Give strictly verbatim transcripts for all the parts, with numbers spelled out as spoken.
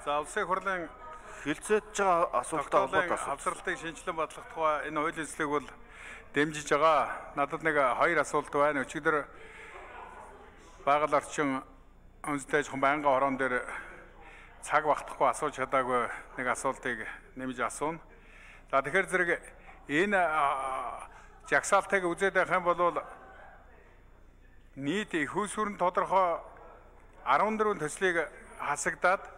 За улсын хурлын хилцээж байгаа асуултаа холбоотой асуулт. Авсралтыг шинжилэн бодлох тухай энэ хуулийн төслийг бол дэмжиж байгаа. Надад нэг хоёр асуулт байна. Өчигдөр байгаль орчин үндэсний аж ахуйн байнгын хорон дээр цаг багтахгүй асууж чадаагүй нэг асуултыг нэмж асууна. За тэгэхээр зэрэг энэ жагсаалтыг үзээд байх юм бол нийт их усүрэн тодорхой арван дөрвөн төслийг хасагдаад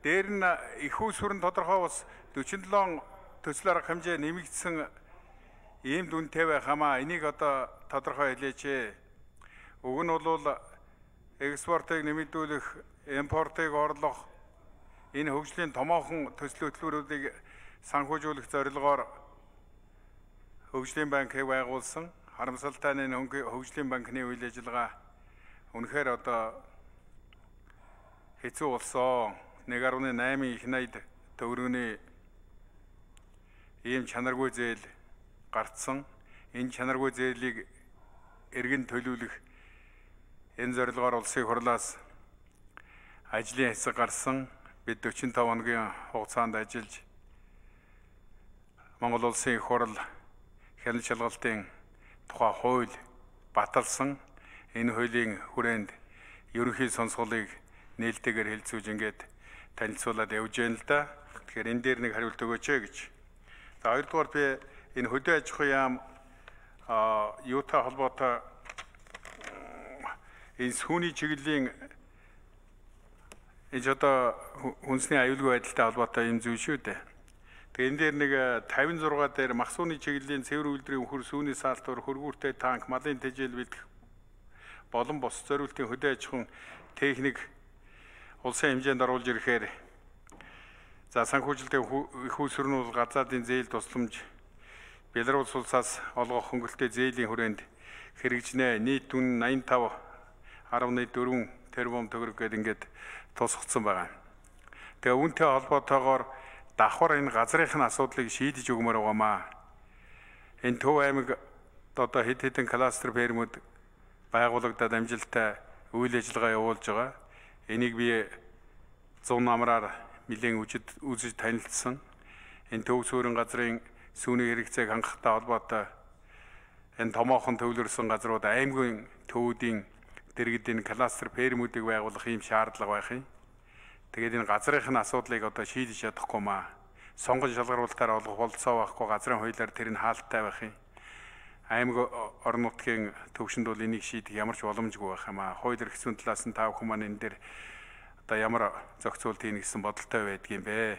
дээр нь их усүрэн тодорхой ус дөрвөн долоо төсөл арга хэмжээ нэмэгдсэн ийм дүнтэй байх хамаа энийг одоо тодорхой хэлээч. Уг нь бол экспортыг нэмэгдүүлэх, импортыг орлох энэ хөгжлийн томоохон төсөл хөтөлбөрүүдийг санхүүжүүлэх зорилгоор хөгжлийн банкыг байгуулсан. Харамсалтай нь хөгжлийн банкны үйл ажиллагаа үнэхээр одоо хэцүү болсон. нэг гаруй найман их найд төгрөгийн ийм чанаргүй зээл гарцсан. Энэ чанаргүй зээлийг эргэн төлөвлөх энэ зорилгоор улсын хурлаас ажлын хэсэг гарсан. Бид дөрвөн хоногийн хугацаанд ажиллаж Монгол улсын их хурл хяналт шалгалтын тухай хууль баталсан. Энэ хуулийн хүрээнд ерөнхий сонсголыг нээлттэйгээр хэлцүүлж ингээд танилцуулаад явж байна л да. Тэгэхээр энэ дээр нэг хариулт өгөөч гэж. За хоёрдугаар би энэ хөдөө аж ахуйн яам юутай холбоотой энэ сүүний чиглэлийн энэ одоо хүнсний аюулгүй байдалтай холбоотой юм зүйл шүү дээ. Тэгээ энэ дээр нэг тавин зургаа дээр махсууны чиглэлийн цэвэр үйлдвэрийн хөр сүүний саалтуур хөргүүртэй танк малын тэжээл бэлдэх болон бос зориултын хөдөө аж ахуйн техник улсын хэмжээнд оруулж ирэхээр за санхүүжилтийн их усүрнүүл газаадын зээл тусламж Беларусь улсаас олгох хөнгөлтэй зээлийн хүрээнд хэрэгжнэ. Нийт түн найман тав арван дөрвөн тэрбум төгрөг гээд ингээд тусгацсан байгаа. Тэгээ үүнтэй холбоотойгоор давхар энэ газрынхын асуудлыг шийдэж өгмөр байгаамаа. Энэ Төв аймаг одоо хэд хэдэн кластер фермүүд байгуулагдаад амжилттай үйл ажиллагаа явуулж байгаа. Энийг би зүүн намраар нэлээд үжид үзэж танилцсан. Энэ төв суурин газрын сүүний хэрэгцээг хангахтай холбоотой энэ томоохон төвлөрсөн газрууд аймгийн төвүүдийн дэргэд энэ кластер фермүүдийг байгуулах ийм шаардлага байх юм. Тэгээд энэ газрынхын асуудлыг одоо шийдэж чадахгүй маа. Сонгон шалгаруулалтаар олох болцоо байхгүй газрын хуулиар тэр нь хаалттай байх юм. Аймаг орон нутгийн төвшөнд бол энийг шийдэх ямар ч боломжгүй байх юм аа. Хууль эрх зүйн талаас нь та бүхэн маань энэ дээр одоо ямар зохицуулт хийн гэсэн бодолтой байдгийм бэ.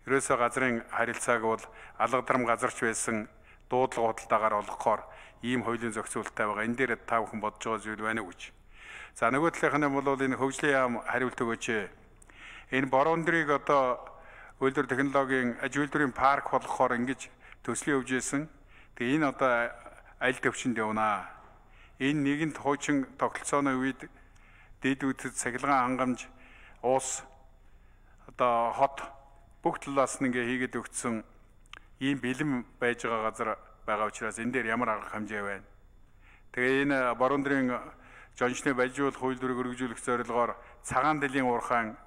Ерөөсөө газрын харилцааг бол алга дарам газарч байсан дуудлага худалдаагаар олгохоор ийм хуулийн зохицуулттай байгаа. Энэ дээр та бүхэн бодож байгаа зүйл байна уу гэж. За нөгөө талынх нь бол энэ хөгжлийн яам хариулт өгөөч. Энэ бороо өндрийг одоо үйлдвэр технологийн аж үйлдвэрийн парк болгохоор ингэж төслийн хөгжөөсөн. Тэгээ энэ одоо аль төвчөнд явна. Энэ нэгэнт хуучин тогтолцооны үед дэд үдэд цахилгаан хангамж уус одоо хот бүх талаас нь ингээ хийгээд өгсөн ийм бэлэн байж байгаа газар байгаа учраас энэ дээр ямар арга хэмжээ байна. Тэгээ энэ бороондырын жончны балжуулах үйлдвэрийг өргөжүүлэх зорилгоор цагаан дэлийн уурхаан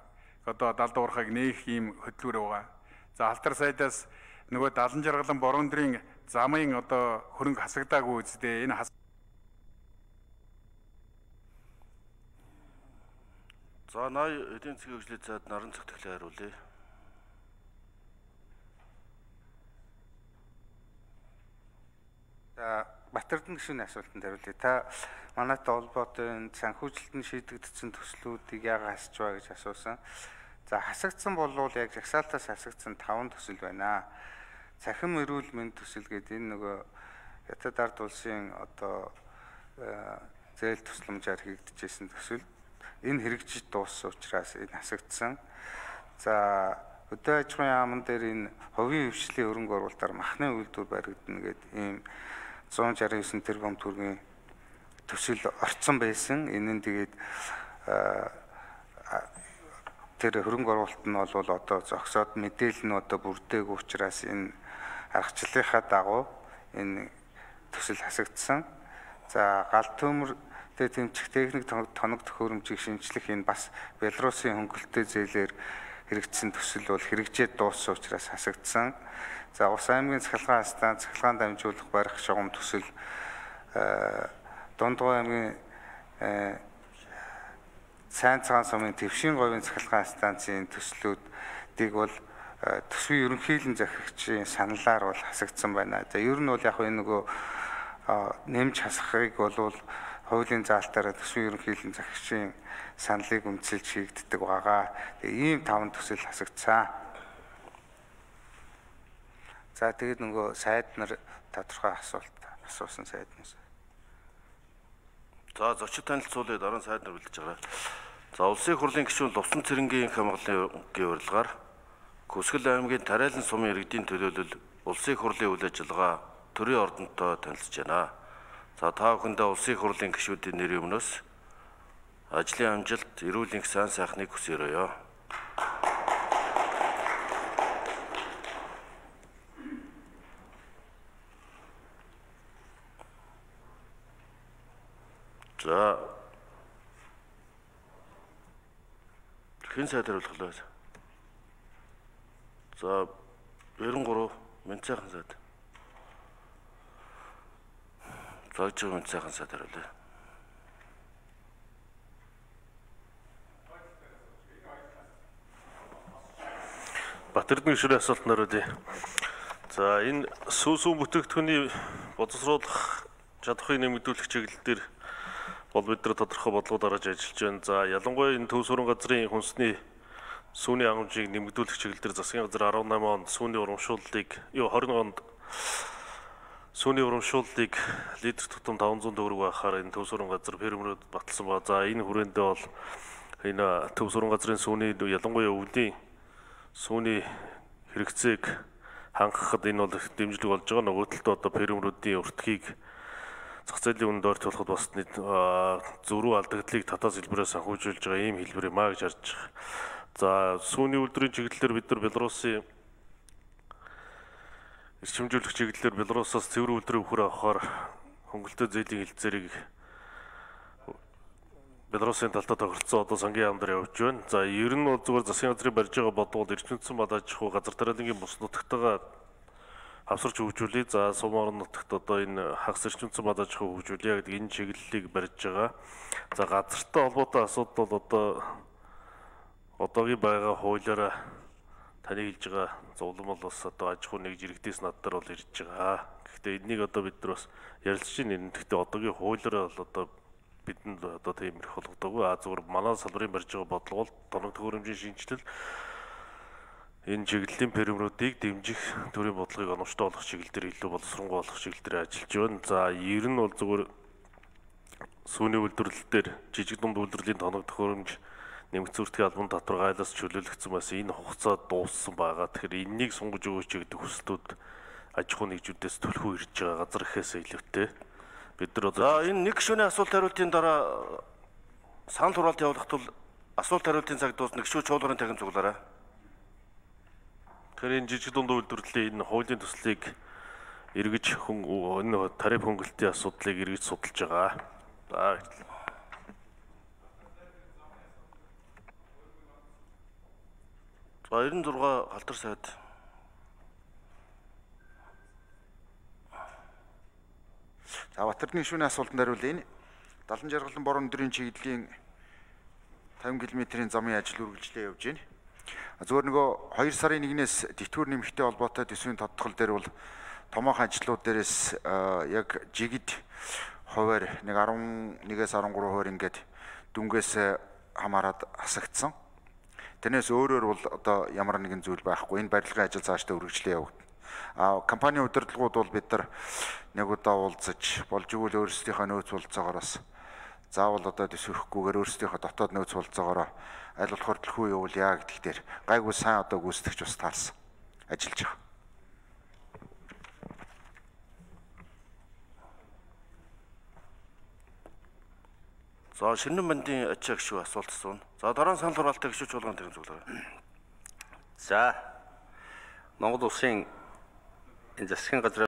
одоо далд уурхайг нээх ийм хөтөлбөр байгаа. За Алтар сайдаас нөгөө далан жаргалан бороондырын замын одоо хөрөнгө хасагдаагүй үстэй энэ хас... За ноён эдийн засгийн хөгжлийн зайд наран зохицлыг хариулъя. За Батэрдэн гишүүний асуултанд хариулъя. Та манайтай холбоотой санхүүжилтөнд шийдэгдсэн төслүүдийг яагаад хасч байгаа гэж асуусан. За хасагдсан болвол яг жагсаалтаас хасагдсан таван төсөл байна. Цахим эрүүл мэнд төсөл гэдэг энэ нөгөө Хятад ард улсын одоо зээл тусламжаар хийгдчихсэн төсөл. Энэ хэрэгжиж дууссан учраас энэ хасагдсан. За хөдөө аж ахуйн яамн дээр энэ хувийн хвшлийн хөрөнгө оруулалтаар махны үйлдвэр баригдана гэдэг ийм зуун шарган девять тэрбум төгрөгийн төсөл орцсон байсан. Энэ нь тэгээд тэр хөрөнгө оруулалт нь бол одоо зогсоод мэдээлэл нь одоо бүрдээг учраас энэ аргачлалынхаа дагуу энэ төсөл хасагдсан. За гал төмөр тэмцэх техник тоног төхөөрөмжийг шинжлэх энэ бас Белорусын хөнгөлөлттэй зээлээр хэрэгжсэн төсөл бол хэрэгжээд дууссан учраас хасагдсан. За Ус аймгийн цахилгаан станц, цахилгаан дамжуулах барих шугам төсөл, Дундгой аймгийн Сайн цагаан сумын Твшин говийн цахилгаан станцын төслүүдийг бол төсвийн ерөнхийлөн захирагчийн саналаар бол хасагдсан байна. За ер нь бол яг энэ нөгөө нэмж хасахыг бол хуулийн заалтаараа төсвийн ерөнхийлөн захирагчийн саналыг үндэслэж хийгддэг байгаа. Тэгээ ийм таван төсөл хасагдсан. За тэгээд нөгөө сайд нар тодорхой асуулт асуусан сайднаас. За зочид танилцуулъя, дараа нь сайд нар бэлдэж байгаа. За улсын их хурлын гишүүн Лувсан цэрэнгийн хамгааллын урилгаар Көсгөл аймгийн Тариалан сумын иргэдийн төлөөлөл улсын их хурлын үйл ажиллагаа төрийн ордонтой танилцж байна. За та бүхэндээ улсын их хурлын гишүүдийн нэрийн өмнөөс ажлын амжилт, эрүүл энх сайн сайхныг хүсье. За хэн сайд хариулахлаа? За яран гурав Мэнцайхан сайд. Загж Мэнцайхан сайд хариулъя. Батэрдэн гишүүрийн асуулт нариулъя. За энэ сүүсүүн бүтээгдэхүүний боловсруулах чадварыг нэмэгдүүлэх чиглэл дээр бол бид нар тодорхой бодлого дарааж ажиллаж байна. За ялангуяа энэ төв суран газрын хүнсний сүүний хангамжийг нэмэгдүүлэх чиглэл дээр засгийн газар арван намын онд сүүний урамшууллыг, юу хорин онд сүүний урамшууллыг литр тутам таван зуун төгрөг байхаар энэ төв суран газар фермерүүд баталсан ба. За энэ хүрээндээ бол энэ төв суран газрын сүүний ялангуяа өвлийн сүүний хэрэгцээг хангахад энэ бол дэмжлэг болж байгаа. Нөгөө талд одоо фермерүүдийн өртгийг зах зээлийн үнэнд ойртуулахад бас зөрүү алдагдлыг татаас хэлбэрээр санхүүжүүлж байгаа ийм хэлбэр юм а гэж харж байгаа. За сүүний үйлдвэрийн чиглэлээр бид нар Белорусын эрчимжүүлэх чиглэлээр Белорусаас цэвэр үйлдвэрийн үхэр авахаар хөнгөлөлтөө зээлийн хэлцээрийг Белорусын талдаа тохиролцсон одоо сангийн яамдар явж байна. За ер нь бол зүгээр засгийн газрын барьж байгаа бодвол эрчимцэн бадаж хуу газар тариалангийн бус нутагтайгаа хавсарч хөгжүүлээ. За сум орон нутагт одоо энэ хагас эрчимцэн бадаж хуу хөгжүүлээ гэдэг энэ чиглэлийг барьж байгаа. За газартай холбоотой асуудал бол одоо одоогийн байгаа хуулиараа таны хэлж байгаа зовлон бол бас одоо аж ахуй нэгж иргэдээс надаар бол ирж байгаа. Гэхдээ энийг одоо бид нар бас ярилцж байна. Гэхдээ одоогийн хуулиараа бол одоо бидэнд одоо тийм их болгодоогүй. А зүгээр манай салбарын барьж байгаа бодлого бол тоног төхөөрөмжийн шинжилэл энэ чиглэлийн фермерүүдийг дэмжих төрийн бодлогыг оновчтой болгох чиглэл дээр илүү боловсронгуй болгох чиглэл дээр ажиллаж байна. За ер нь бол зүгээр сүүний үйлдвэрлэл дээр жижиг дунд үйлдвэрлэлийн тоног төхөөрөмж нэмэгдсэн үртгийн албан татвар гайлаас чөлөөлөгдсөн бас энэ хугацаа дууссан байгаа. Тэгэхээр энэнийг сунгаж өгөөч гэдэг хүслүүд аж ахуй нэгжүүдээс төлхөө ирж байгаа газар ихээс илүүтэй. Бид нар одоо за энэ нэг гишүүний асуулт хариултын дараа санал хураалт явуулах тул асуулт хариултын цаг дуусна. Гишүү чуулгарын тахин цуглаарай. Тэгэхээр энэ жижиг дунд үйлдвэрлэлийн энэ хуулийн төслийг эргэж энэ тариф хөнгөлтийн асуудлыг эргэж судалж байгаа. За За эрдэнэ зургаа халтар сайд. За Батэрдэн гишүүний асуултанд хариулъя. Далан жаргалан борон өдрийн чиглэлийн тавин км-ийн замын ажил үргэлжлээ явж байна. Зөвхөн нөгөө хоёр сарын нэгнээс тэтгэвэр нэмэхтэй холбоотой төсвийн тодтгол дээр бол томоохон ажлууд дээрээс яг жигд хуваар нэг арван нэгээс арван гурван хуваар ингээд дүнгээс хамаарад хасагдсан. Тэрнээс өөрөөр бол одоо ямар нэгэн зүйл байхгүй. Энэ барилгын ажил цаашдаа үргэлжлээ явагдана. А компани удирдлагууд бол бид нар нэг удаа уулзаж болж игэл өөрсдийнхөө нөөц болцоогоороос заавал одоо төсөөхгүйгээр өөрсдийнхөө дотоод нөөц болцоогоороо аль болохоор төлхөө явуулъя гэдэг дээр гайгүй сайн одоо гүйцэтгэж бас таарсан ажиллаж байгаа. За шинэн бандын ачаа гишүү асуулт асууна. За дараа нь санал хураалттай гишүү чуулганы тахин цугларай. За Монгол улсын энэ засгийн газрын